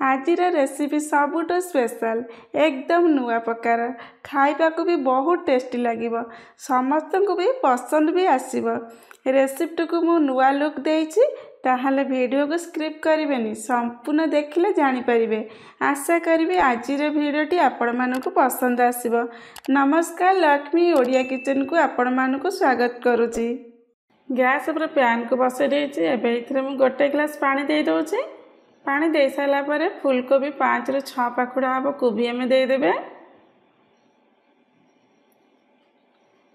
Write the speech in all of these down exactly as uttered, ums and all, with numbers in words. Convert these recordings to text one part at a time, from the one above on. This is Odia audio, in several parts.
ଆଜିର ରେସିପି ସବୁଠୁ ସ୍ପେଶାଲ, ଏକଦମ ନୂଆ ପ୍ରକାର, ଖାଇବାକୁ ବି ବହୁତ ଟେଷ୍ଟି ଲାଗିବ, ସମସ୍ତଙ୍କୁ ବି ପସନ୍ଦ ବି ଆସିବ। ରେସିପିଟିକୁ ମୁଁ ନୂଆ ଲୁକ୍ ଦେଇଛି, ତାହେଲେ ଭିଡ଼ିଓକୁ ସ୍କିପ୍ କରିବେନି, ସମ୍ପୂର୍ଣ୍ଣ ଦେଖିଲେ ଜାଣିପାରିବେ। ଆଶା କରିବି ଆଜିର ଭିଡ଼ିଓଟି ଆପଣମାନଙ୍କୁ ପସନ୍ଦ ଆସିବ। ନମସ୍କାର, ଲକ୍ଷ୍ମୀ ଓଡ଼ିଆ କିଚେନକୁ ଆପଣମାନଙ୍କୁ ସ୍ୱାଗତ କରୁଛି। ଗ୍ୟାସ୍ ଉପରେ ପ୍ୟାନ୍କୁ ବସାଇ ଦେଇଛି। ଏବେ ଏଥିରେ ମୁଁ ଗୋଟେ ଗ୍ଲାସ୍ ପାଣି ଦେଇଦେଉଛି। ପାଣି ଦେଇସାରିଲା ପରେ ଫୁଲକୋବି ପାଞ୍ଚରୁ ଛଅ ପାଖୁଡ଼ା ହେବ କୋବି ଆମେ ଦେଇଦେବେ।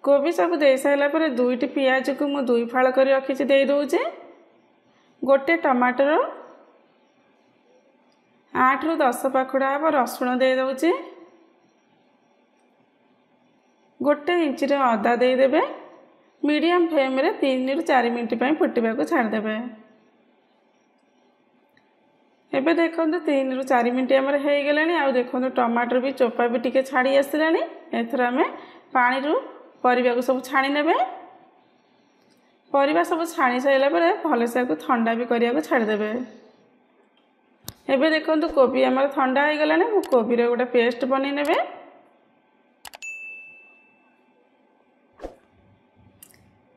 କୋବି ସବୁ ଦେଇସାରିଲା ପରେ ଦୁଇଟି ପିଆଜକୁ ମୁଁ ଦୁଇ ଫାଳ କରି ରଖିଛି ଦେଇଦେଉଛି। ଗୋଟେ ଟମାଟର, ଆଠରୁ ଦଶ ପାଖୁଡ଼ା ହେବ ରସୁଣ ଦେଇଦେଉଛି। ଗୋଟେ ଇଞ୍ଚର ଅଦା ଦେଇଦେବେ। ମିଡ଼ିୟମ୍ ଫ୍ଲେମ୍ରେ ତିନିରୁ ଚାରି ମିନିଟ୍ ପାଇଁ ଫୁଟିବାକୁ ଛାଡ଼ିଦେବେ। ଏବେ ଦେଖନ୍ତୁ ତିନିରୁ ଚାରି ମିନିଟ୍ ଆମର ହେଇଗଲାଣି। ଆଉ ଦେଖନ୍ତୁ ଟମାଟର ବି ଚୋପା ବି ଟିକେ ଛାଡ଼ି ଆସିଲାଣି। ଏଥର ଆମେ ପାଣିରୁ ପରିବାକୁ ସବୁ ଛାଣି ନେବେ। ପରିବା ସବୁ ଛାଣି ସାରିଲା ପରେ ଭଲସେ ଆକୁ ଥଣ୍ଡା ବି କରିବାକୁ ଛାଡ଼ିଦେବେ। ଏବେ ଦେଖନ୍ତୁ କୋବି ଆମର ଥଣ୍ଡା ହେଇଗଲାଣି। ମୁଁ କୋବିର ଗୋଟେ ପେଷ୍ଟ ବନେଇ ନେବେ।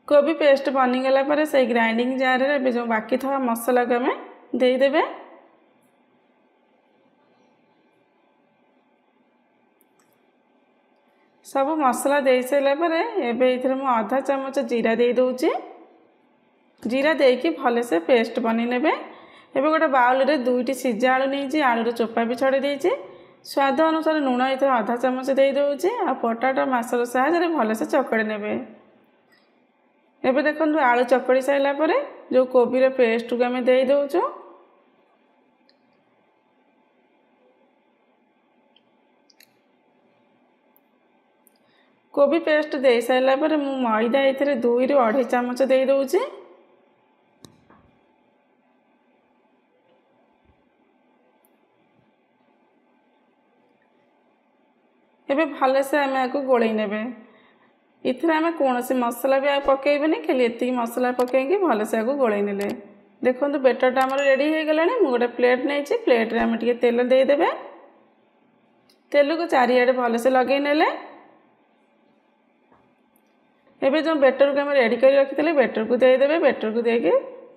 କୋବି ପେଷ୍ଟ ବନିଗଲା ପରେ ସେଇ ଗ୍ରାଇଣ୍ଡିଂ ଜାରରେ ଏବେ ଯେଉଁ ବାକି ଥିବା ମସଲାକୁ ଆମେ ଦେଇଦେବେ। ସବୁ ମସଲା ଦେଇସାରିଲା ପରେ ଏବେ ଏଇଥିରେ ମୁଁ ଅଧା ଚାମଚ ଜିରା ଦେଇଦେଉଛି। ଜିରା ଦେଇକି ଭଲସେ ପେଷ୍ଟ ବନେଇ ନେବେ। ଏବେ ଗୋଟେ ବାଉଲରେ ଦୁଇଟି ସିଝା ଆଳୁ ନେଇଛି, ଆଳୁର ଚୋପା ବି ଛଡ଼େଇ ଦେଇଛି। ସ୍ୱାଦ ଅନୁସାରେ ଲୁଣ ଏଥିରେ ଅଧା ଚାମଚ ଦେଇଦେଉଛି। ଆଉ ପଟାଟୋ ମାସର ସାହାଯ୍ୟରେ ଭଲସେ ଚକଡ଼ି ନେବେ। ଏବେ ଦେଖନ୍ତୁ ଆଳୁ ଚକଡ଼ି ସାରିଲା ପରେ ଯେଉଁ କୋବିର ପେଷ୍ଟକୁ ଆମେ ଦେଇଦେଉଛୁ। କୋବି ପେଷ୍ଟ ଦେଇସାରିଲା ପରେ ମୁଁ ମଇଦା ଏଥିରେ ଦୁଇରୁ ଅଢ଼େଇ ଚାମଚ ଦେଇଦେଉଛି। ଏବେ ଭଲସେ ଆମେ ଆକୁ ଗୋଳେଇ ନେବେ। ଏଥିରେ ଆମେ କୌଣସି ମସଲା ବି ଆଉ ପକାଇବେନି, ଖାଲି ଏତିକି ମସଲା ପକାଇକି ଭଲସେ ଆକୁ ଗୋଳେଇ ନେଲେ। ଦେଖନ୍ତୁ ବେଟରଟା ଆମର ରେଡ଼ି ହେଇଗଲାଣି। ମୁଁ ଗୋଟେ ପ୍ଲେଟ୍ ନେଇଛି, ପ୍ଲେଟ୍ରେ ଆମେ ଟିକେ ତେଲ ଦେଇଦେବେ। ତେଲକୁ ଚାରିଆଡ଼େ ଭଲସେ ଲଗେଇ ନେଲେ। ଏବେ ଯେଉଁ ବେଟରକୁ ଆମେ ରେଡ଼ି କରି ରଖିଥିଲେ ବେଟରକୁ ଦେଇଦେବେ। ବେଟରକୁ ଦେଇକି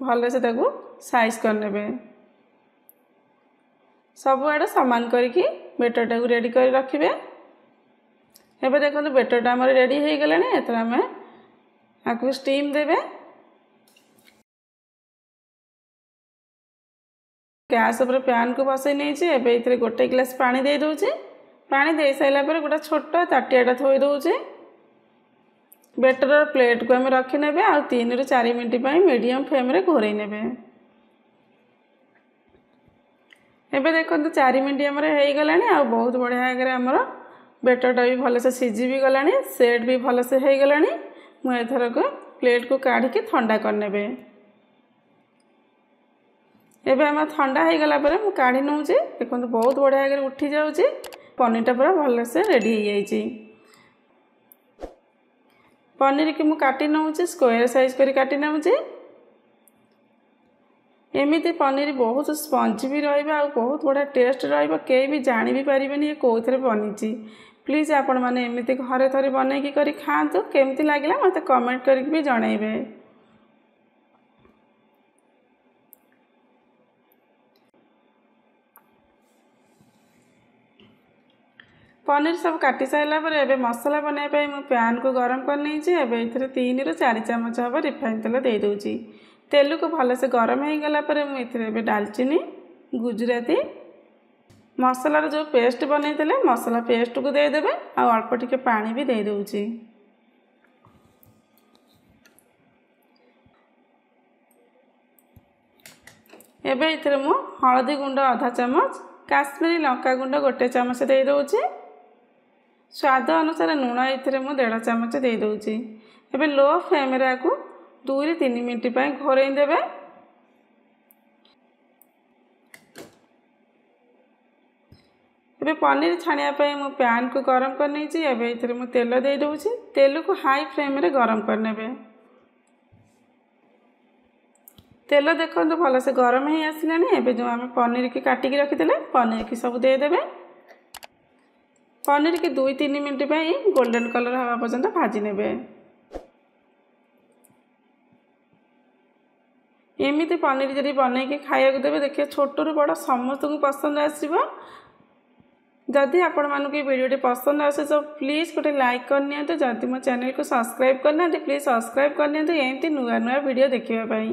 ଭଲସେ ତାକୁ ସାଇଜ୍ କରିନେବେ। ସବୁଆଡ଼େ ସମାନ କରିକି ବେଟରଟାକୁ ରେଡ଼ି କରି ରଖିବେ। ଏବେ ଦେଖନ୍ତୁ ବେଟରଟା ଆମର ରେଡ଼ି ହେଇଗଲାଣି। ଏଥର ଆମେ ଆକୁ ଷ୍ଟିମ୍ ଦେବେ। ଗ୍ୟାସ୍ ଉପରେ ପ୍ୟାନ୍କୁ ବସାଇ ନେଇଛି। ଏବେ ଏଥିରେ ଗୋଟେ ଗ୍ଲାସ୍ ପାଣି ଦେଇଦେଉଛି। ପାଣି ଦେଇସାରିଲା ପରେ ଗୋଟେ ଛୋଟ ତାଟିଆଟା ଥୋଇ ଦେଉଛି। ବେଟରର ପ୍ଲେଟ୍କୁ ଆମେ ରଖିନେବେ ଆଉ ତିନିରୁ ଚାରି ମିନିଟ୍ ପାଇଁ ମିଡ଼ିୟମ୍ ଫ୍ଲେମ୍ରେ ଘୋରେଇ ନେବେ। ଏବେ ଦେଖନ୍ତୁ ଚାରି ମିନିଟ୍ ଆମର ହେଇଗଲାଣି। ଆଉ ବହୁତ ବଢ଼ିଆ ଆଗରେ ଆମର ବେଟରଟା ବି ଭଲସେ ସିଝି ବି ଗଲାଣି, ସେଟ୍ ବି ଭଲସେ ହେଇଗଲାଣି। ମୁଁ ଏଥରକ ପ୍ଲେଟ୍କୁ କାଢ଼ିକି ଥଣ୍ଡା କରିନେବେ। ଏବେ ଆମର ଥଣ୍ଡା ହେଇଗଲା ପରେ ମୁଁ କାଢ଼ି ନେଉଛି। ଦେଖନ୍ତୁ ବହୁତ ବଢ଼ିଆ ଆଗରେ ଉଠି ଯାଉଛି। ପନିରଟା ପୁରା ଭଲସେ ରେଡ଼ି ହେଇଯାଇଛି। ପନିରକି ମୁଁ କାଟି ନେଉଛି, ସ୍କୋୟାର ସାଇଜ୍ କରି କାଟି ନେଉଛି। ଏମିତି ପନିର ବହୁତ ସ୍ପଞ୍ଜି ବି ରହିବ ଆଉ ବହୁତ ବଢ଼ିଆ ଟେଷ୍ଟ ରହିବ। କେହି ବି ଜାଣି ବି ପାରିବେନି ଏ କେଉଁଥିରେ ବନିଛି। ପ୍ଲିଜ୍ ଆପଣମାନେ ଏମିତି ଘରେ ଥରେ ବନେଇକି କରି ଖାଆନ୍ତୁ। କେମିତି ଲାଗିଲା ମୋତେ କମେଣ୍ଟ କରିକି ବି ଜଣାଇବେ। ପନିର ସବୁ କାଟି ସାରିଲା ପରେ ଏବେ ମସଲା ବନାଇବା ପାଇଁ ମୁଁ ପ୍ୟାନ୍କୁ ଗରମ କରିନେଇଛି। ଏବେ ଏଥିରେ ତିନିରୁ ଚାରି ଚାମଚ ହେବ ରିଫାଇନ୍ ତେଲ ଦେଇଦେଉଛି। ତେଲକୁ ଭଲସେ ଗରମ ହେଇଗଲା ପରେ ମୁଁ ଏଥିରେ ଏବେ ଡାଲଚିନି, ଗୁଜୁରାତି, ମସଲାର ଯେଉଁ ପେଷ୍ଟ ବନେଇଥିଲେ ମସଲା ପେଷ୍ଟକୁ ଦେଇଦେବେ। ଆଉ ଅଳ୍ପ ଟିକେ ପାଣି ବି ଦେଇଦେଉଛି। ଏବେ ଏଥିରେ ମୁଁ ହଳଦୀ ଗୁଣ୍ଡ ଅଧା ଚାମଚ, କାଶ୍ମୀରୀ ଲଙ୍କା ଗୁଣ୍ଡ ଗୋଟେ ଚାମଚ ଦେଇଦେଉଛି। ସ୍ୱାଦ ଅନୁସାରେ ଲୁଣ ଏଥିରେ ମୁଁ ଦେଢ଼ ଚାମଚ ଦେଇଦେଉଛି। ଏବେ ଲୋ ଫ୍ଲେମ୍ରେ ଆକୁ ଦୁଇରୁ ତିନି ମିନିଟ୍ ପାଇଁ ଘୋରେଇ ଦେବେ। ଏବେ ପନିର ଛାଣିବା ପାଇଁ ମୁଁ ପ୍ୟାନ୍କୁ ଗରମ କରିନେଇଛି। ଏବେ ଏଥିରେ ମୁଁ ତେଲ ଦେଇଦେଉଛି। ତେଲକୁ ହାଇ ଫ୍ଲେମ୍ରେ ଗରମ କରିନେବେ। ତେଲ ଦେଖନ୍ତୁ ଭଲସେ ଗରମ ହେଇ ଆସିଲାଣି। ଏବେ ଯେଉଁ ଆମେ ପନିରକି କାଟିକି ରଖିଥିଲେ ପନିରକି ସବୁ ଦେଇଦେବେ। ପନିରକି ଦୁଇ ତିନି ମିନିଟ୍ ପାଇଁ ଗୋଲ୍ଡେନ୍ କଲର୍ ହେବା ପର୍ଯ୍ୟନ୍ତ ଭାଜି ନେବେ। ଏମିତି ପନିର ଯଦି ବନେଇକି ଖାଇବାକୁ ଦେବେ, ଦେଖିବେ ଛୋଟରୁ ବଡ଼ ସମସ୍ତଙ୍କୁ ପସନ୍ଦ ଆସିବ। ଯଦି ଆପଣମାନଙ୍କୁ ଏ ଭିଡ଼ିଓଟି ପସନ୍ଦ ଆସେ ତ ପ୍ଲିଜ୍ ଗୋଟେ ଲାଇକ୍ କରିନିଅନ୍ତୁ। ଯଦି ମୋ ଚ୍ୟାନେଲକୁ ସବସ୍କ୍ରାଇବ୍ କରିନାହାନ୍ତି, ପ୍ଲିଜ୍ ସବସ୍କ୍ରାଇବ୍ କରିନିଅନ୍ତୁ ଏମିତି ନୂଆ ନୂଆ ଭିଡ଼ିଓ ଦେଖିବା ପାଇଁ।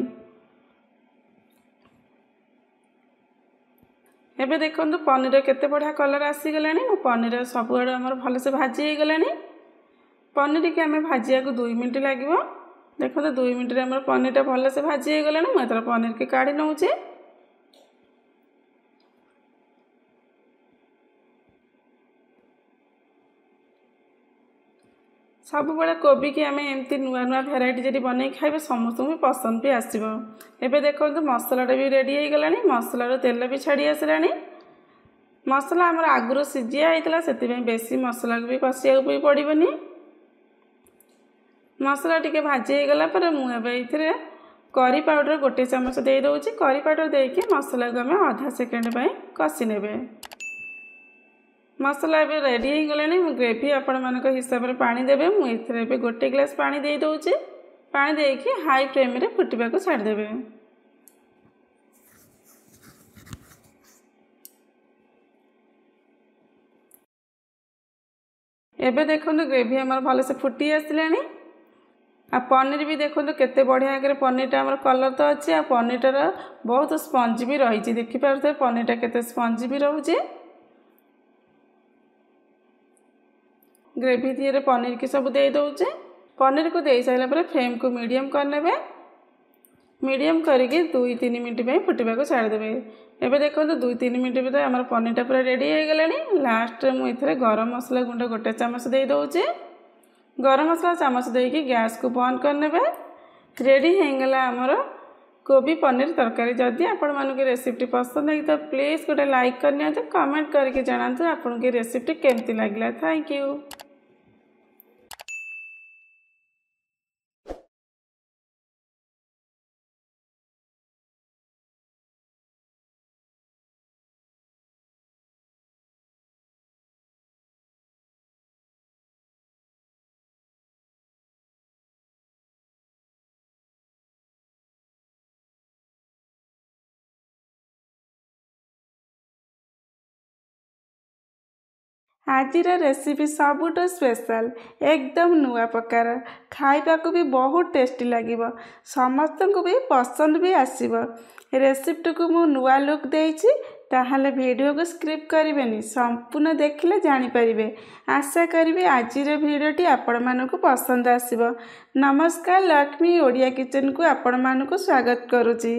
ଏବେ ଦେଖନ୍ତୁ ପନିର କେତେ ବଢ଼ିଆ କଲର୍ ଆସିଗଲାଣି। ମୋ ପନିର ସବୁଆଡ଼ୁ ଆମର ଭଲସେ ଭାଜି ହେଇଗଲାଣି। ପନିରକି ଆମେ ଭାଜିବାକୁ ଦୁଇ ମିନିଟ୍ ଲାଗିବ। ଦେଖନ୍ତୁ ଦୁଇ ମିନିଟ୍ରେ ଆମର ପନିରଟା ଭଲସେ ଭାଜି ହେଇଗଲାଣି। ମୁଁ ଏଥର ପନିରକି କାଢ଼ି ନେଉଛି। ସବୁବେଳେ କୋବିକି ଆମେ ଏମିତି ନୂଆ ନୂଆ ଭେରାଇଟି ଯଦି ବନେଇକି ଖାଇବେ, ସମସ୍ତଙ୍କୁ ବି ପସନ୍ଦ ବି ଆସିବ। ଏବେ ଦେଖନ୍ତୁ ମସଲାଟା ବି ରେଡ଼ି ହେଇଗଲାଣି। ମସଲାରୁ ତେଲ ବି ଛାଡ଼ି ଆସିଲାଣି। ମସଲା ଆମର ଆଗରୁ ସିଝିଆ ହେଇଥିଲା, ସେଥିପାଇଁ ବେଶୀ ମସଲାକୁ ବି କଷିବାକୁ ବି ପଡ଼ିବନି। ମସଲା ଟିକେ ଭାଜି ହେଇଗଲା ପରେ ମୁଁ ଏବେ ଏଇଥିରେ କରି ପାଉଡ଼ର ଗୋଟେ ଚାମଚ ଦେଇଦେଉଛି। କରି ପାଉଡ଼ର ଦେଇକି ମସଲାକୁ ଆମେ ଅଧା ସେକେଣ୍ଡ ପାଇଁ କଷି ନେବେ। ମସଲା ଏବେ ରେଡ଼ି ହେଇଗଲାଣି। ମୁଁ ଗ୍ରେଭି ଆପଣମାନଙ୍କ ହିସାବରେ ପାଣି ଦେବେ। ମୁଁ ଏଥିରେ ଏବେ ଗୋଟେ ଗ୍ଲାସ୍ ପାଣି ଦେଇଦେଉଛି। ପାଣି ଦେଇକି ହାଇ ଫ୍ଲେମ୍ରେ ଫୁଟିବାକୁ ଛାଡ଼ିଦେବେ। ଏବେ ଦେଖନ୍ତୁ ଗ୍ରେଭି ଆମର ଭଲସେ ଫୁଟି ଆସିଲାଣି। ଆଉ ପନିର ବି ଦେଖନ୍ତୁ କେତେ ବଢ଼ିଆ ଆଗରେ ପନିରଟା ଆମର କଲର୍ ତ ଅଛି, ଆଉ ପନିରଟାର ବହୁତ ସ୍ପଞ୍ଜି ବି ରହିଛି। ଦେଖିପାରୁଥିବେ ପନିରଟା କେତେ ସ୍ପଞ୍ଜି ବି ରହୁଛି। ଗ୍ରେଭି ଦିହରେ ପନିରକି ସବୁ ଦେଇଦେଉଛି। ପନିରକୁ ଦେଇସାରିଲା ପରେ ଫ୍ଲେମ୍କୁ ମିଡ଼ିୟମ୍ କରିନେବେ। ମିଡ଼ିୟମ୍ କରିକି ଦୁଇ ତିନି ମିନିଟ୍ ପାଇଁ ଫୁଟିବାକୁ ଛାଡ଼ିଦେବେ। ଏବେ ଦେଖନ୍ତୁ ଦୁଇ ତିନି ମିନିଟ୍ ଭିତରେ ଆମର ପନିରଟା ପୁରା ରେଡ଼ି ହେଇଗଲାଣି। ଲାଷ୍ଟରେ ମୁଁ ଏଥିରେ ଗରମ ମସଲା ଗୁଣ୍ଡ ଗୋଟେ ଚାମଚ ଦେଇଦେଉଛି। ଗରମ ମସଲା ଚାମଚ ଦେଇକି ଗ୍ୟାସ୍କୁ ବନ୍ଦ କରିନେବେ। ରେଡ଼ି ହେଇଗଲା ଆମର କୋବି ପନିର ତରକାରୀ। ଯଦି ଆପଣମାନଙ୍କୁ ରେସିପିଟି ପସନ୍ଦ ହେଇଥିବ, ପ୍ଲିଜ୍ ଗୋଟେ ଲାଇକ୍ କରିନିଅନ୍ତୁ। କମେଣ୍ଟ କରିକି ଜଣାନ୍ତୁ ଆପଣଙ୍କୁ ଏ ରେସିପିଟି କେମିତି ଲାଗିଲା। Thank you. ଆଜିର ରେସିପି ସବୁଠୁ ସ୍ପେଶାଲ, ଏକଦମ ନୂଆ ପ୍ରକାର, ଖାଇବାକୁ ବି ବହୁତ ଟେଷ୍ଟି ଲାଗିବ, ସମସ୍ତଙ୍କୁ ବି ପସନ୍ଦ ବି ଆସିବ। ରେସିପିଟିକୁ ମୁଁ ନୂଆ ଲୁକ୍ ଦେଇଛି, ତାହେଲେ ଭିଡ଼ିଓକୁ ସ୍କିପ୍ କରିବେନି, ସମ୍ପୂର୍ଣ୍ଣ ଦେଖିଲେ ଜାଣିପାରିବେ। ଆଶା କରିବି ଆଜିର ଭିଡ଼ିଓଟି ଆପଣମାନଙ୍କୁ ପସନ୍ଦ ଆସିବ। ନମସ୍କାର, ଲକ୍ଷ୍ମୀ ଓଡ଼ିଆ କିଚେନକୁ ଆପଣମାନଙ୍କୁ ସ୍ୱାଗତ କରୁଛି।